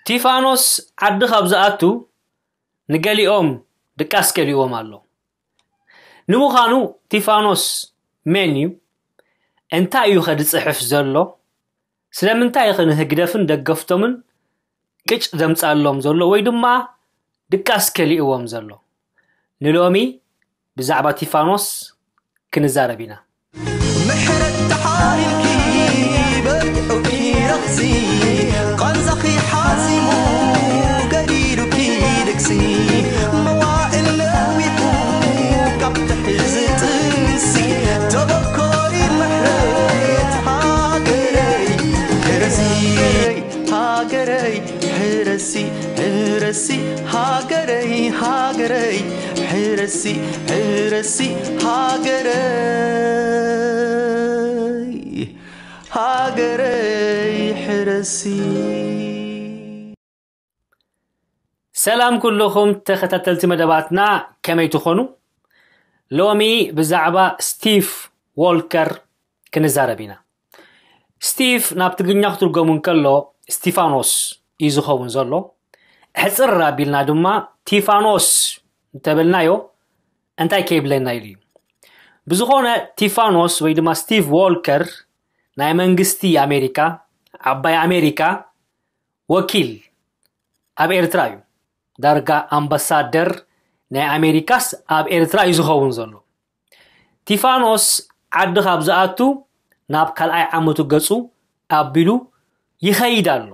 ቲፋኖስ ዓዲ ካብ ዝኣቱ ንገሊኦም ድቃስ ከሊእዎም ኣሎ። ንምዃኑ ቲፋኖስ መን እዩ? እንታይ እዩ ከ ዝጽሕፍ ዘሎ? ስለምንታይ ኸ ንህግደፍን ደገፍቶምን ቅጭ ዘምጻሎም ዘሎ ወይ ድማ ድቃስ ከሊእዎም ዘሎ? ንሎሚ ብዛዕባ ቲፋኖስ ክንዛረብ ኢና። ምሕረት ተሓሪምኪ በርትዑ ይረኽሲ፣ ቃንዛኺ ሓዚሙ ገዲዱኪ ድግሲ፣ መዋእል ነዊሑ ካብ ትሕዚ ጥንሲ፣ ተበኮሪ ምሕረት ሃገረይ ሕረሲ፣ ሃገረይ ሕረሲ፣ ሕረሲ ሃገረይ፣ ሃገረይ ሕረሲ፣ ሕረሲ ሃገረይ፣ ሃገረይ ሕረሲ። ሰላም ኩልኹም ተኸታተልቲ መደባትና፣ ከመይ ትኾኑ? ሎሚ ብዛዕባ ስቲቭ ዎልከር ክንዛረብ ኢና። ስቲቭ ናብ ትግርኛ ክትርገሙ እንከሎ ስቲፋኖስ እዩ ዝኸውን ዘሎ። ሕጽር ኣቢልና ድማ ቲፋኖስ እንተበልናዮ እንታይ ከይብለና ኢሉ እዩ። ብዝኾነ ቲፋኖስ ወይ ድማ ስቲቭ ዎልከር ናይ መንግስቲ ኣሜሪካ፣ ዓባይ ኣሜሪካ ወኪል ኣብ ኤርትራ እዩ። ዳርጋ ኣምባሳደር ናይ ኣሜሪካስ ኣብ ኤርትራ እዩ ዝኸውን ዘሎ። ቲፋኖስ ዓዲ ካብ ዝኣቱ ናብ ካልኣይ ዓመቱ ገጹ ኣቢሉ ይኸይድ ኣሎ።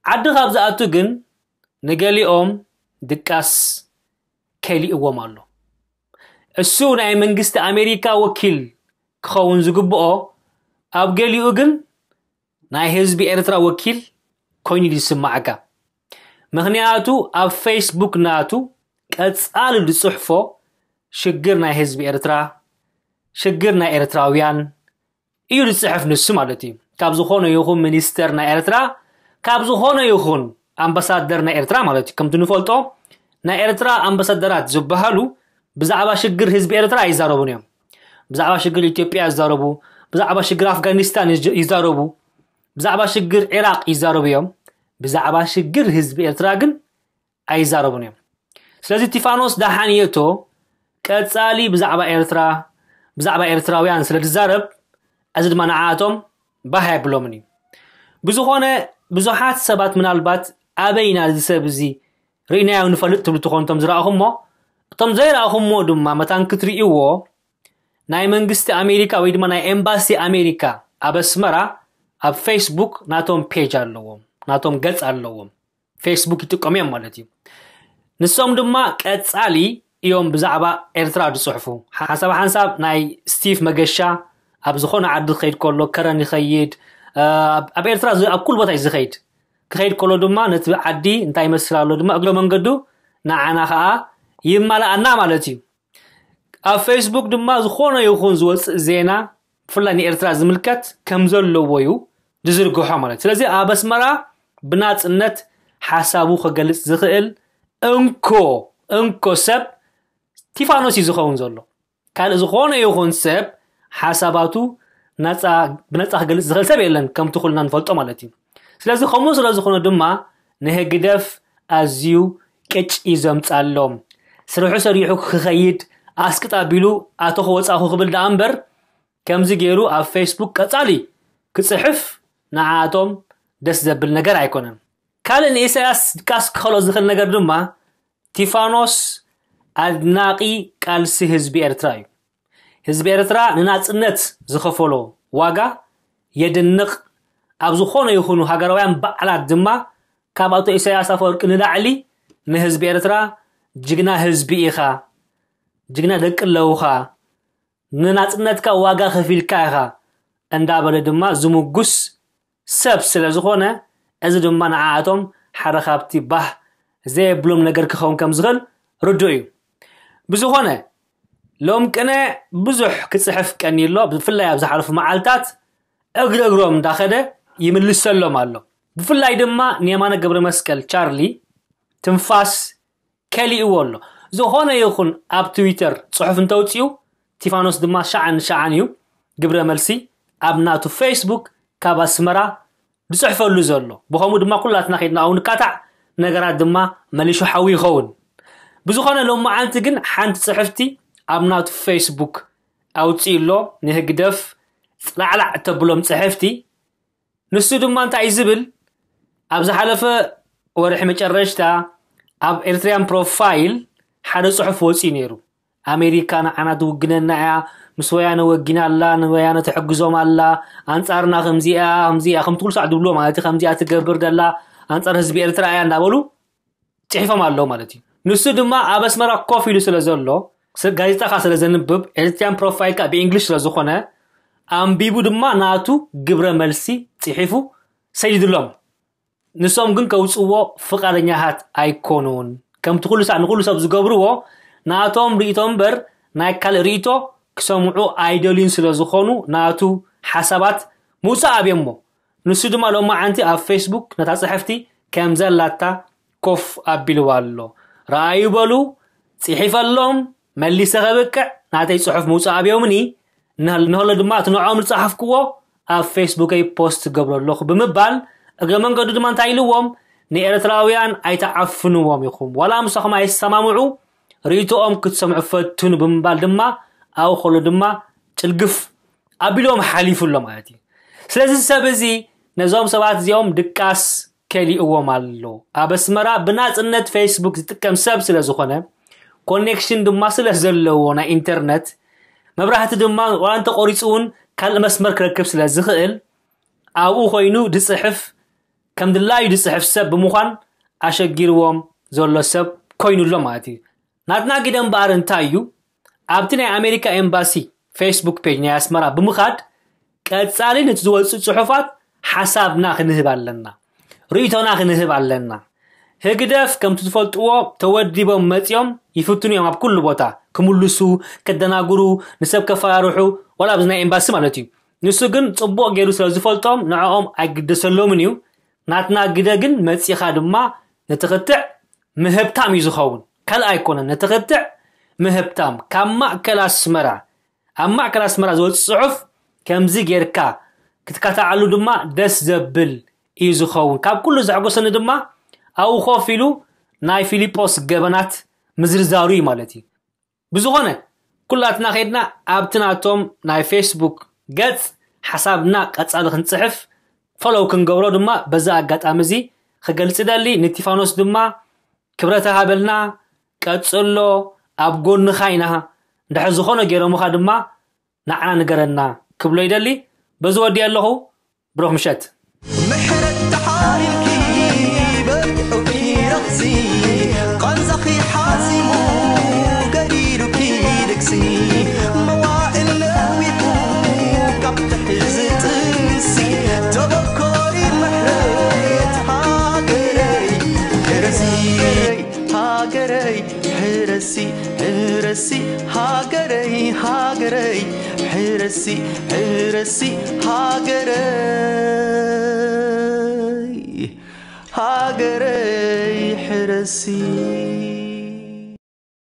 ዓዲ ካብ ዝኣቱ ግን ንገሊኦም ድቃስ ከሊእዎም ኣሎ። እሱ ናይ መንግስቲ ኣሜሪካ ወኪል ክኸውን ዝግብኦ፣ ኣብ ገሊኡ ግን ናይ ህዝቢ ኤርትራ ወኪል ኮይኑ ዝስማዓካ። ምኽንያቱ ኣብ ፌስቡክ ናቱ ቀጻሊ ዝጽሕፎ ሽግር ናይ ህዝቢ ኤርትራ፣ ሽግር ናይ ኤርትራውያን እዩ ዝጽሕፍ ንሱ ማለት እዩ። ካብ ዝኾነ ይኹን ሚኒስተር ናይ ኤርትራ፣ ካብ ዝኾነ ይኹን ኣምባሳደር ናይ ኤርትራ ማለት እዩ። ከምቲ ንፈልጦ ናይ ኤርትራ ኣምባሳደራት ዝበሃሉ ብዛዕባ ሽግር ህዝቢ ኤርትራ ኣይዛረቡን እዮም። ብዛዕባ ሽግር ኢትዮጵያ ይዛረቡ፣ ብዛዕባ ሽግር ኣፍጋኒስታን ይዝ-፣ ይዛረቡ፣ ብዛዕባ ሽግር ዒራቕ ይዛረቡ እዮም። ብዛዕባ ሽግር ህዝቢ ኤርትራ ግን ኣይዛረቡን እዮም። ስለዚ ቲፋኖስ ደሓን የእቶ ቀጻሊ ብዛዕባ ኤርትራ፣ ብዛዕባ ኤርትራውያን ስለ ዝዛረብ፣ እዚ ድማ ንዓኣቶም ባህ ኣይብሎምን እዩ። ብዝኾነ ብዙሓት ሰባት ምናልባት ኣበይና እዚ ሰብ እዚ ርኢናዮ ንፈልጥ ትብሉ ትኾኑ እቶም ዝረኣኹሞ፣ እቶም ዘይረኣኹሞ ድማ መታን ክትርእይዎ ናይ መንግስቲ ኣሜሪካ ወይ ድማ ናይ ኤምባሲ ኣሜሪካ ኣብ ኣስመራ ኣብ ፌስቡክ ናቶም ፔጅ ኣለዎም፣ ናቶም ገጽ ኣለዎም። ፌስቡክ ይጥቀሙ እዮም ማለት እዩ። ንሶም ድማ ቀጻሊ እዮም ብዛዕባ ኤርትራ ዝጽሕፉ። ሓንሳብ ሓንሳብ ናይ ስቲቭ መገሻ ኣብ ዝኾነ ዓዲ ክኸይድ ከሎ ከረን ይኸይድ፣ እ፣ ኣብ፣ ኣብ ኤርትራ ዝ-፣ ኣብ ኩሉ ቦታ እዩ ዝኸይድ። ክኸይድ ከሎ ድማ ነቲ ዓዲ እንታይ ይመስል ኣሎ ድማ እግረ መንገዱ ንዓና ኸኣ ይማልኣና ማለት እዩ። ኣብ ፌስቡክ ድማ ዝኾነ ይኹን ዝወጽእ ዜና ብፍላይ ንኤርትራ ዝምልከት ከም ዘለዎ እዩ ዝዝርግሖ ማለት። ስለዚ ኣብ ኣስመራ ብናጽነት ሓሳቡ ክገልጽ ዝኽእል እንኮ፣ እንኮ ሰብ ቲፋኖስ እዩ ዝኸውን ዘሎ። ካልእ ዝኾነ ይኹን ሰብ ሓሳባቱ ናጻ፣ ብነጻ ክገልጽ ዝኽእል ሰብ የለን፣ ከምቲ ኩልና ንፈልጦ ማለት እዩ። ስለዚ ከምኡ ስለ ዝኾነ ድማ ንህግደፍ ኣዝዩ ቅጭ እዩ ዘምጻሎም። ስርሑ ሰሪሑ ክኸይድ ኣስቅጥ ኣቢሉ ኣተኹ ወጻኹ ክብል ደኣ እምበር ከምዚ ገይሩ ኣብ ፌስቡክ ቀጻሊ ክጽሕፍ ንዓኣቶም ደስ ዘብል ነገር ኣይኮነን። ካልእ ንኢሳያስ ድቃስ ክኸሎ ዝኽእል ነገር ድማ ቲፋኖስ ኣድናቒ ቃልሲ ህዝቢ ኤርትራ እዩ። ህዝቢ ኤርትራ ንናጽነት ዝኸፈሎ ዋጋ የድንቕ። ኣብ ዝኾነ ይኹኑ ሃገራውያን በዓላት ድማ ካብ ኣቶ ኢሳያስ ኣፈወርቂ ንላዕሊ ንህዝቢ ኤርትራ ጅግና ህዝቢ ኢኻ፣ ጅግና ደቂ ኣለውኻ፣ ንናጽነትካ ዋጋ ከፊልካ ኢኻ እንዳበለ ድማ ዝምጉስ ሰብ ስለ ዝኾነ፣ እዚ ድማ ንዓኣቶም ሓደ ካብቲ ባህ ዘየብሎም ነገር ክኸውን ከም ዝኽእል ርዱእ እዩ። ብዝኾነ፣ ሎም ቅነ ብዙሕ ክጽሕፍ ቀንዩ ኣሎ። ብፍላይ ኣብ ዝሓለፉ መዓልታት እግሪ እግሮም እንዳኸደ ይምልሰሎም ኣሎ። ብፍላይ ድማ ንየማነ ገብረ መስቀል ቻርሊ ትንፋስ ከሊእዎ ኣሎ። ዝኾነ ይኹን ኣብ ትዊተር ጽሑፍ እንተውጽኡ፣ ቲፋኖስ ድማ ሸዓን ሸዓን እዩ ግብረ መልሲ ኣብ ናቱ ፌስቡክ ካብ ኣስመራ ዝፅሕፈሉ ዘሎ። ብኸምኡ ድማ ኩላትና ከድና ኣብኡ ንካታዕ፣ ነገራት ድማ መሊሹ ሓዊ ይኸውን። ብዝኾነ ሎማዓንቲ ግን ሓንቲ ፅሕፍቲ ኣብ ናቱ ፌስቡክ ኣውፅኡ ኣሎ። ንህግደፍ ፅላዕላዕ እተብሎም ፅሕፍቲ። ንሱ ድማ እንታይ እዩ ዝብል? ኣብ ዝሓለፈ ወርሒ መጨረሽታ ኣብ ኤርትርያን ፕሮፋይል ሓደ ጽሑፍ ወጺኡ ነይሩ። ኣሜሪካ ንዓና ትውግነና እያ፣ ምስ ወያነ ወጊና ኣላ፣ ንወያነ ትሕግዞም ኣላ፣ ኣንጻርና ከምዚኣ ከምዚኣ ከምቲ ኩሉ ሳዕ ድብሎ ማለት እዩ፣ ከምዚኣ ትገብር ደላ ኣንጻር ህዝቢ ኤርትራ እያ እንዳበሉ ጽሒፎም ኣለዉ ማለት እዩ። ንሱ ድማ ኣብ ኣስመራ ኮፍ ኢሉ ስለ ዘሎ፣ ስ- ጋዜጣ ከኣ ስለ ዘንብብ፣ ኤርትርያን ፕሮፋይል ከኣ ብእንግሊሽ ስለ ዝኾነ፣ ኣንቢቡ ድማ ናቱ ግብረ መልሲ ጽሒፉ ሰዲድሎም። ንሶም ግን ከውጽዎ ፍቓደኛታት ኣይኮኑን። ከምቲ ኩሉ ሳዕ ንኹሉ ሰብ ዝገብርዎ፣ ናቶም ርእይቶ እምበር ናይ ካልእ ርእይቶ ክሰምዑ ኣይደልዩን ስለ ዝኾኑ፣ ናቱ ሓሳባት ምውጻእ ኣብዮሞ። ንሱ ድማ ሎማዓንቲ ኣብ ፌስቡክ ነታ ጽሕፍቲ ከም ዘላታ ኮፍ ኣቢልዋ ኣሎ። ረኣዩ በሉ፣ ጽሒፈሎም፣ መሊሰ ከብቅዕ ናተይ ጽሑፍ ምውጻእ ኣብዮምኒ፣ ንህል- ንህሎ ድማ እቲ ንዕኦም ዝጸሓፍክዎ ኣብ ፌስቡከይ ፖስት ገብሮ ኣለኹ ብምባል፣ እግረ መንገዱ ድማ እንታይ ኢልዎም? ንኤርትራውያን ኣይተዓፍንዎም ኢኹም። ዋላ ምሳኹም ኣይሰማምዑ፣ ርእይቶኦም ክትሰምዑ ፈትኑ ብምባል ድማ ኣብኡ ከሎ ድማ ጭልግፍ ኣቢልዎም ሓሊፉ ኣሎ ማለት እዩ። ስለዚ ሰብ እዚ ነዞም ሰባት እዚኦም ድቃስ ከሊእዎም ኣሎ። ኣብ ኣስመራ ብናጽነት ፌስቡክ ዝጥቀም ሰብ ስለ ዝኾነ፣ ኮኔክሽን ድማ ስለ ዘለዎ ናይ ኢንተርነት፣ መብራህቲ ድማ ዋላ እንተቆሪጹ እውን ካልእ መስመር ክረክብ ስለ ዝኽእል፣ ኣብኡ ኮይኑ ድጽሕፍ፣ ከም ድላዩ ድጽሕፍ ሰብ ብምዃን ኣሸጊርዎም ዘሎ ሰብ ኮይኑ ኣሎ ማለት እዩ። ናትና ግደ እምበኣር እንታይ እዩ? ኣብቲ ናይ ኣሜሪካ ኤምባሲ ፌስቡክ ፔጅ ናይ ኣስመራ ብምኻድ ቀጻሊ ነቲ ዝወጽእ ጽሑፋት ሓሳብና ክንህብ ኣለና፣ ርእይቶና ክንህብ ኣለና። ህግደፍ ከምቲ ትፈልጥዎ ተወዲቦም መጺኦም ይፍትኑ እዮም ኣብ ኩሉ ቦታ ክምልሱ፣ ከደናግሩ፣ ንሰብ ከፈራርሑ፣ ዋላ ኣብዚ ናይ ኤምባሲ ማለት እዩ። ንሱ ግን ጽቡቕ ገይሩ ስለ ዝፈልጦም ንዕኦም ኣይግደሰሎምን እዩ። ናትና ግደ ግን መጺኻ ድማ ነቲ ክትዕ ምህብታም እዩ ዝኸውን። ካልእ ኣይኮነን፣ ነቲ ክትዕ ምህብታም ካብ ማእከል ኣስመራ፣ ኣብ ማእከል ኣስመራ ዝወጽእ ጽሑፍ ከምዚ ጌርካ ክትካታዓሉ ድማ ደስ ዘብል እዩ ዝኸውን። ካብ ኩሉ ዘሐጎሰኒ ድማ ኣብኡ ኮፍ ኢሉ ናይ ፊሊጶስ ገበናት ምዝርዛሩ እዩ ማለት እዩ። ብዝኾነ ኩላትና ከድና ኣብቲ ናቶም ናይ ፌስቡክ ገጽ ሓሳብና ቀጻሊ ክንጽሕፍ፣ ፎሎው ክንገብሮ ድማ በዚ ኣጋጣሚ እዚ ክገልጽ ደሊ። ንቲፋኖስ ድማ ክብረት ሃበልና፣ ቀጽሎ፣ ኣብ ጎንኻ ኢና። እንድሕር ዝኾነ ገይሮምኻ ድማ ንዓና ንገረና ክብሎ ይደሊ። በዚ ወዲእ ኣለኹ። ብሩኽ ምሸት። ምሕረት ተሓሪምኪ በርትዑ ኪረኽሲ ቃንዛኺ ሓዚሙ ገዲሉኪ ልግሲ መዋእል ነዊሑ ካብ ትሕዚ ጥንሲ ተበኮሪ ምሕረት ሃገረይ ሕረሲ ሃገረይ ሕረሲ ሕረሲ ሃገረይ ሃገረይ ሕረሲ ሕረሲ ሃገረይ ሃገረይ ሕረሲ